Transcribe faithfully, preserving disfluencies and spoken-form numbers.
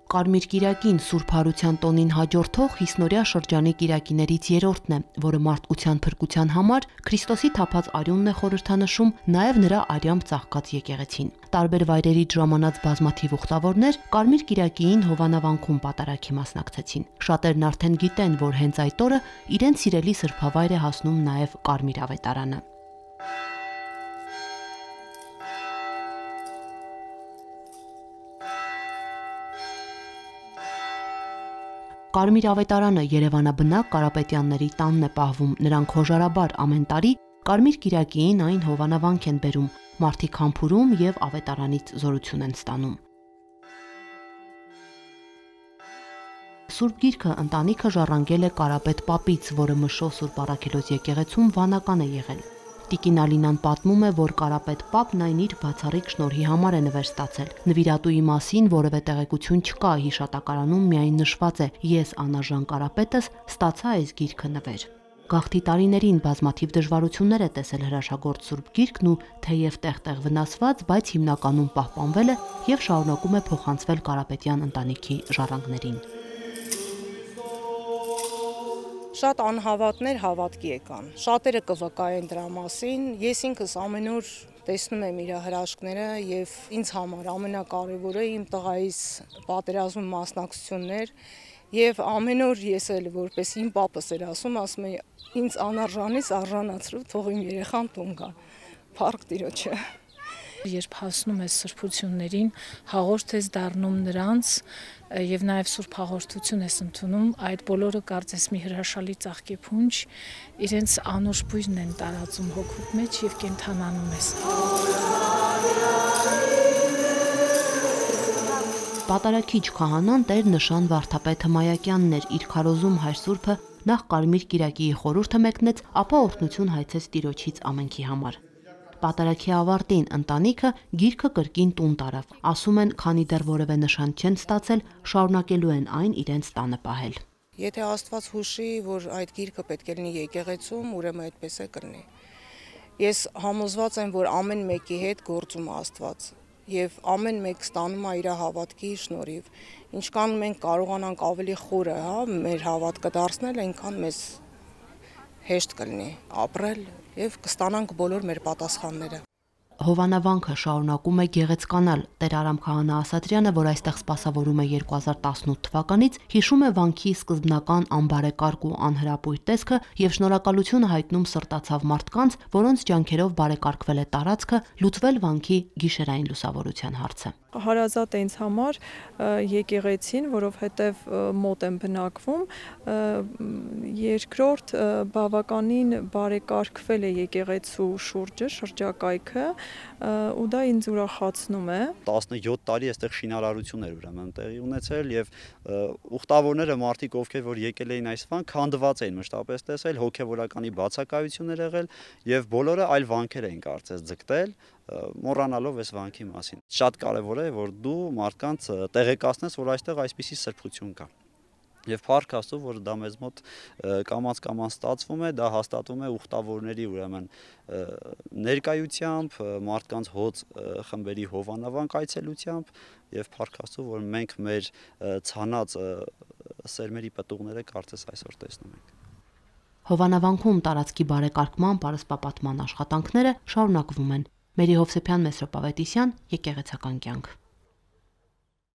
Կարմիր կիրակին Սուրբ Հարության տոնին հաջորդող հիսնօրյա շրջանի կիրակիներից երրորդն է, որը մարդկության փրկության համար Քրիստոսի թափած արյունն է խորհրդանշում նաև նրա արյամբ ծաղկած եկեղեցին։ Տարբեր վայրերից ժամանած բազմաթիվ ուխտավորներ Կարմիր կիրակիին Հովանավանքում պատարագի մասնակցեցին։ Շատերն արդեն գիտեն, որ հենց այդ օրը իրենց սիրելի սրբավայր է հասնում նաև Կարմիր ավետարանը։ Կարմիր ավետարանը Երևանաբնակ Կարապետյանների տանն է պահվում, նրանք հոժարաբար ամեն տարի Կարմիր կիրակիին այն Հովանավանք են բերում, մարդիկ համբուրում եւ ավետարանից զորություն են ստանում։ Սուրբ Գիրքը ընտանիքը ժառանգել է Կարապետ պապից, որը Մշո Սուրբ Առաքելոց եկեղեցում վանական է եղել։ Տիկին Ալինան պատմում է, որ Կարապետ պապն այն իր բացառիկ շնորհի համար է նվեր ստացել։ Նվիրատուի մասին որևէ տեղեկություն չկա, հիշատակարանում միայն նշված է. «Ես անարժան Կարապետս ստացա այս գիրքը նվեր»։ Գաղթի տարիներին բազմաթիվ դժվարություններ է տեսել հրաշագործ Սուրբ Գիրքն ու թեև տեղ-տեղ վնասված, բայց հիմնականում պահպանվել է եւ շարունակում է փոխանցվել Կարապետյան ընտանիքի ժառանգներին։ Շատ անհավատներ հավատքի եկան, շատերը կվկայեն դրա մասին, ես ինքս ամեն օր տեսնում եմ իր հրաշքները եւ ինձ համար ամենակարևորը իմ տղայիս պատերազմի մասնակցություններ եւ ամեն օր ես էլ որպես իմ պապս էր ասում, ասում է ինձ անարժանից արժանացրու, թող իմ երեխան տուն գա, փառք Տիրոջը։ Երբ հասնում ես սրբություններին, հաղորդ ես դառնում նրանց եւ նաեւ սուրբ հաղորդություն ես ընդունում, այդ բոլորը կարծես մի հրաշալի ծաղկի փունջ, իրենց անուշ բույրն են տարածում հոգուդ մեջ եւ կենթանանում ես։ Պատարագիչ քահանան Տեր Նշան Վարդապետ Հմայակյանն էր, իր քարոզում հայր Սուրբը նախ Կարմիր կիրակիի խորհուրդը մեկնեց, ապա օրհնություն հայցեց Տիրոջից ամենքի համար։ Պատարագի ավարտին ընտանիքը գիրքը կրկին տուն տարավ։ Ասում են, քանի դեռ որևէ նշան չեն ստացել, շարունակելու են այն իրենց տանը պահել։ Եթե Աստված հուշի, որ այդ գիրքը պետք է լինի եկեղեցում, ուրեմն այդպես է կլինի։ Ես համոզված եմ, որ ամեն մեկի հետ գործում է Աստված եւ ամեն մեկ ստանում է իր հավատքի շնորհիվ։ Ինչքան մենք կարողանանք ավելի խորը, հա, մեր հավատքը դարձնել, այնքան մեզ հեշտ կլինի ապրել եւ կստանանք բոլոր մեր պատասխանները։ Հովանավանքը շարունակում է գեղեցկանալ։ Տեր Արամ Քահանա Ասատրյանը, որ այստեղ սպասավորում է երկու հազար տասնութ թվականից, հիշում է վանքի սկզբնական անբարեկարգ ու անհրապույր տեսքը եւ շնորհակալություն հայտնում սրտացավ մարդկանց, որոնց ջանքերով բարեկարգվել է տարածքը, լուծվել վանքի գիշերային լուսավորության հարցը։ Հարազատ է ինձ համար եկեղեցին, որովհետև մոտ եմ բնակվում, երկրորդ բավականին բարեկարգվել է եկեղեցու շուրջը, շրջակայքը, ու դա ինձ ուրախացնում է։ տասնյոթ տարի այստեղ շինարարություն էր ուրեմն տեղի ունեցել եւ ուխտավորները մարդիկ, ովքեր որ եկել էին այս վանք, քանդված էին մշտապես տեսել, հոգեվորականի բացակայություններ եղել եւ բոլորը այլ վանքեր էին կարծես ձգտել, մոռանալով այս վանքի մասին։ Շատ կարևոր է, որ դու մարդկանց տեղեկացնես, որ այստեղ այսպիսի սրբություն կա։ Եվ փառք Աստծո, որ դա մեզ մոտ կամաց-կամաց ստացվում է, դա հաստատվում է ուխտավորների ուրեմն ներկայությամբ, մարդկանց հոծ խմբերի Հովանավանք այցելությամբ եւ փառք Աստծո, որ մենք մեր ցանած սերմերի պտուղները կարծես այսօր տեսնում ենք։ Հովանավանքում տարածքի բարեկարգման պարսպապատման աշխատանքները շարունակվում են։ Մերի Հովսեփյան, Մեսրոպ Ավետիսյան, Եկեղեցական կյանք։